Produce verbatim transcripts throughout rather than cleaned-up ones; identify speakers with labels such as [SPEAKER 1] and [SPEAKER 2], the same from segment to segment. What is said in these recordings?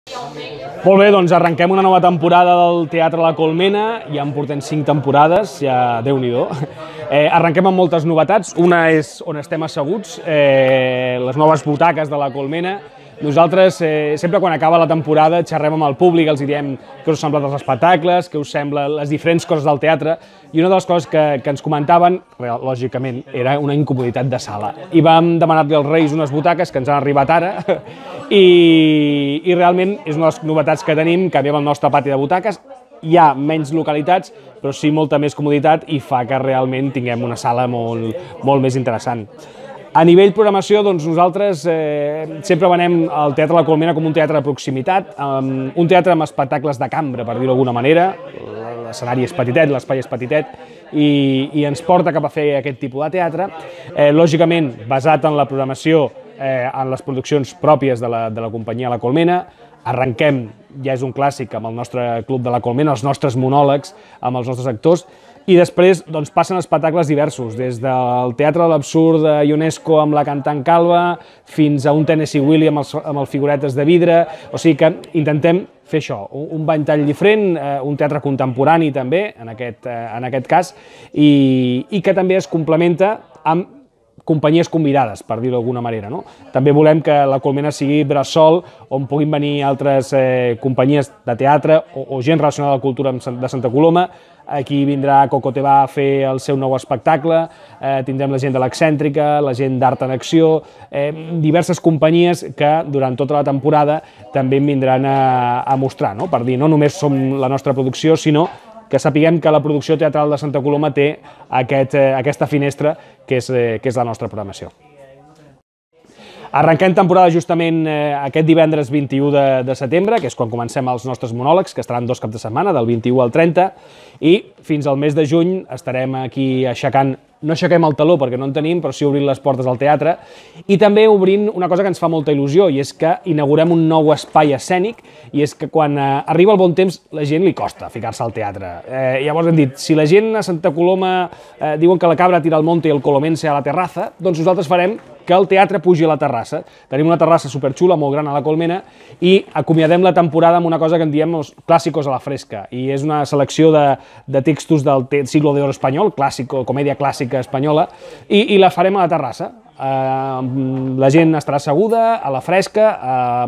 [SPEAKER 1] Molt bé, doncs arrenquem una nova temporada del Teatre La Colmena, ja en portem cinc temporades, ja Déu-n'hi-do. Eh, arrenquem amb moltes novetats, una és on estem asseguts, eh, les noves butaques de La Colmena. Nosaltres, eh, sempre quan acaba la temporada, xerrem amb el públic, els diem què us semblen els espectacles, què us semblen les diferents coses del teatre, i una de les coses que, que ens comentaven, lògicament, era una incomoditat de sala. I vam demanar-li als Reis unes butaques que ens han arribat ara, i, i realment és una de les novetats que tenim, canviem el nostre pati de butaques, hi ha menys localitats, però sí molta més comoditat i fa que realment tinguem una sala molt, molt més interessant. A nivell programació, doncs nosaltres eh, sempre venem el Teatre La Colmena com un teatre de proximitat, um, un teatre amb espectacles de cambra, per dir-ho d'alguna manera. L'escenari és petitet, l'espai és petitet, i, i ens porta cap a fer aquest tipus de teatre. Eh, lògicament, basat en la programació, eh, en les produccions pròpies de la, de la companyia La Colmena. Arrenquem, ja és un clàssic, amb el nostre Club de La Colmena, els nostres monòlegs, amb els nostres actors, i després doncs, passen espectacles diversos, des del Teatre de l'Absurd de Ionesco amb la cantant Calva, fins a un Tennessee Willy amb els, amb els figuretes de vidre, o sigui que intentem fer això, un, un ventall diferent, eh, un teatre contemporani també, en aquest, eh, en aquest cas, i, i que també es complementa amb companyies convidades, per dir-ho d'alguna manera, no? També volem que La Colmena sigui bressol on puguin venir altres eh, companyies de teatre o, o gent relacionada a la cultura de Santa Coloma. Aquí vindrà Coco Te Va a fer el seu nou espectacle, eh, tindrem la gent de l'Excèntrica, la gent d'Art en Acció, eh, diverses companyies que durant tota la temporada també en vindran a, a mostrar, no? Per dir, no només som la nostra producció, sinó que sapiguem que la producció teatral de Santa Coloma té aquest, eh, aquesta finestra que és, eh, que és la nostra programació. Arrenquem temporada justament eh, aquest divendres vint-i-u de, de setembre, que és quan comencem els nostres monòlegs, que estaran dos caps de setmana, del vint-i-u al trenta, i fins al mes de juny estarem aquí aixecant, no aixequem el taló perquè no en tenim, però sí obrint les portes al teatre, i també obrint una cosa que ens fa molta il·lusió, i és que inaugurem un nou espai escènic, i és que quan eh, arriba el bon temps la gent li costa ficar-se al teatre. Eh, llavors hem dit, si la gent a Santa Coloma eh, diuen que la cabra tira al monte i el colomense a la terraza, doncs nosaltres farem que el teatre pugi a la terrassa. Tenim una terrassa superxula, molt gran a La Colmena, i acomiadem la temporada amb una cosa que en diem els clàssicos a la fresca, i és una selecció de, de textos del siglo de oro espanyol, clàssico, comèdia clàssica espanyola, i, i la farem a la terrassa. Uh, la gent estarà asseguda, a la fresca,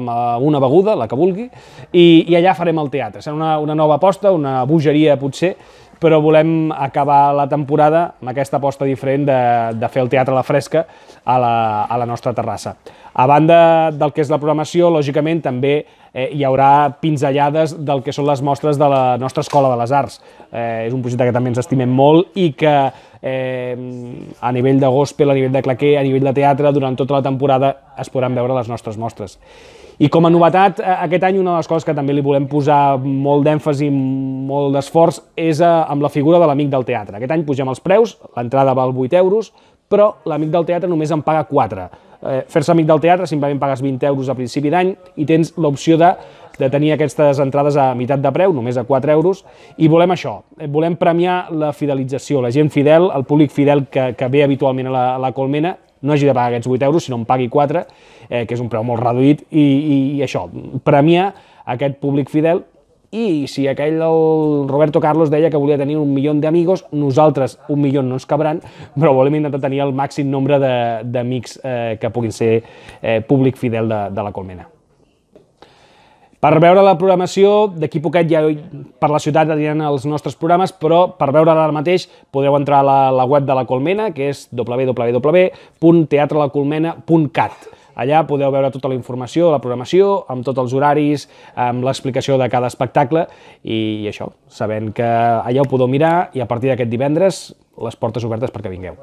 [SPEAKER 1] amb una beguda, la que vulgui, i, i allà farem el teatre. Serà una, una nova aposta, una bogeria potser, però volem acabar la temporada amb aquesta aposta diferent de, de fer el teatre a la fresca a la, a la nostra terrassa. A banda del que és la programació, lògicament també eh, hi haurà pinzellades del que són les mostres de la nostra Escola de les Arts. Eh, és un projecte que també ens estimem molt i que eh, a nivell de gospel, a nivell de claquer, a nivell de teatre, durant tota la temporada es podran veure les nostres mostres. I com a novetat, aquest any una de les coses que també li volem posar molt d'èmfasi, molt d'esforç, és amb la figura de l'amic del teatre. Aquest any pugem els preus, l'entrada val vuit euros, però l'amic del teatre només en paga quatre. Eh, Fer-se amic del teatre simplement pagues vint euros a principi d'any i tens l'opció de, de tenir aquestes entrades a meitat de preu, només a quatre euros, i volem això, volem premiar la fidelització, la gent fidel, el públic fidel que, que ve habitualment a la, a la Colmena, no hagi de pagar aquests vuit euros, sinó en pagui quatre, eh, que és un preu molt reduït, i, i, i això, premiar aquest públic fidel. I si aquell, el Roberto Carlos, deia que volia tenir un milió d'amigos, nosaltres un milió no ens cabran, però volem intentar tenir el màxim nombre d'amics eh, que puguin ser eh, públic fidel de, de la Colmena. Per veure la programació, d'aquí poquet ja per la ciutat aniran els nostres programes, però per veure-la ara mateix podeu entrar a la, la web de la Colmena, que és w w w punt teatre la colmena punt cat. Allà podeu veure tota la informació de la programació, amb tots els horaris, amb l'explicació de cada espectacle, i això, sabent que allà ho podeu mirar, i a partir d'aquest divendres les portes obertes perquè vingueu.